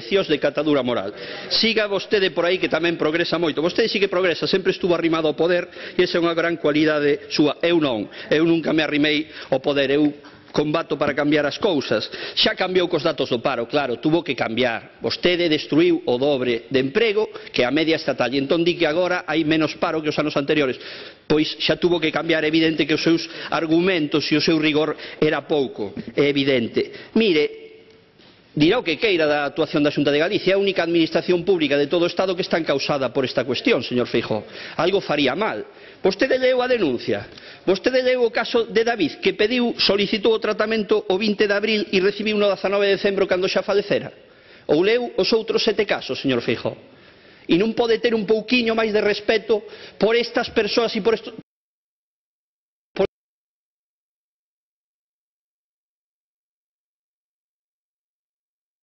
de catadura moral. Siga vostede por aí que tamén progresa moito. Vostede sí que progresa, sempre estuvo arrimado ao poder e esa é unha gran cualidade súa. Eu non. Eu nunca me arrimei ao poder. Eu combato para cambiar as cousas. Xa cambiou cos datos do paro, claro, tuvo que cambiar. Vostede destruiu o dobre de emprego que a media estatal e entón di que agora hai menos paro que os anos anteriores. Pois xa tuvo que cambiar, é evidente que os seus argumentos e o seu rigor era pouco, é evidente. Mire, dirá o que queira da actuación da Xunta de Galicia, é a única administración pública de todo o Estado que está encausada por esta cuestión, señor Feijóo. Algo faría mal. Vostede leu a denuncia, vostede leu o caso de David, que solicitou o tratamento o 20 de abril e recibiu no 19 de decembro cando xa falecera. Ou leu os outros 7 casos, señor Feijóo. E non pode ter un pouquiño máis de respeto por estas persoas e por estos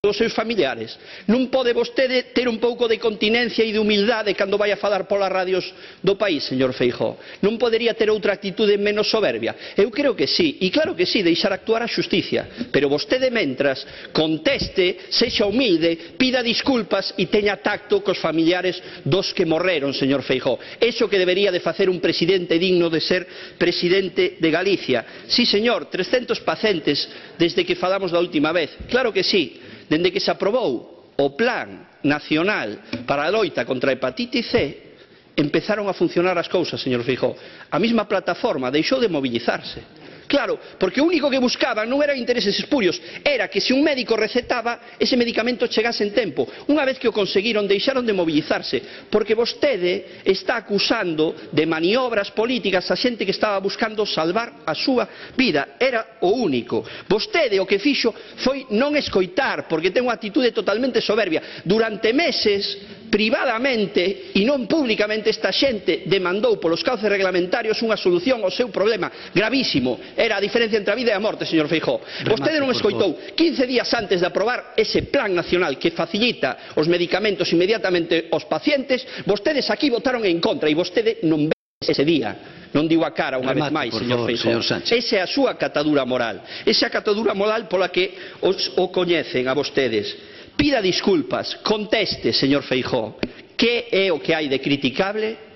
os seus familiares. Non pode vostede ter un pouco de continencia e de humildade cando vai a falar polas radios do país, señor Feijóo? Non podería ter outra actitude menos soberbia? Eu creo que sí, e claro que sí, deixar actuar a xusticia, pero vostede mentras conteste, sexa humilde, pida disculpas e teña tacto cos familiares dos que morreron, señor Feijóo. Iso que debería de facer un presidente digno de ser presidente de Galicia. Sí, señor, 300 pacientes desde que falamos da última vez, claro que sí. Dende que se aprobou o Plan Nacional para a loita contra a hepatite C, empezaron a funcionar as cousas, señor Feijóo. A mesma plataforma deixou de mobilizarse. Claro, porque o único que buscaban non eran intereses espurios, era que se un médico recetaba, ese medicamento chegase en tempo. Unha vez que o conseguiron, deixaron de mobilizarse, porque vostede está acusando de maniobras políticas a xente que estaba buscando salvar a súa vida. Era o único. Vostede o que fixo foi non escoitar, porque ten unha actitude totalmente soberbia. Durante meses, privadamente e non públicamente, esta xente demandou polos cauces reglamentarios unha solución ao seu problema gravísimo. Era a diferencia entre a vida e a morte, señor Feijóo. Vostede non escoitou. 15 días antes de aprobar ese plan nacional que facilita os medicamentos inmediatamente aos pacientes, vostedes aquí votaron en contra e vostede non ve ese día. Non digo a cara unha vez máis, señor Feijóo. Esa é a súa catadura moral. Esa é a catadura moral pola que o coñecen a vostedes. Pida disculpas, conteste, señor Feijóo, que é o que hai de criticable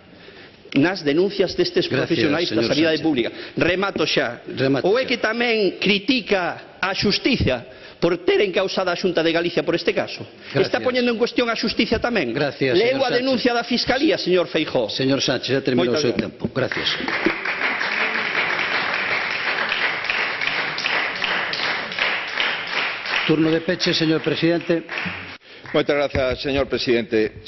nas denuncias destes profesionais da sanidade pública. Remato xa. Ou é que tamén critica a xustiza por ter encausada a Xunta de Galicia por este caso? Está poñendo en cuestión a xustiza tamén? Leu a denuncia da Fiscalía, señor Feijóo. Señor Sánchez, já terminou o seu tempo. Gracias. Turno de peche, señor presidente. Muchas gracias, señor presidente.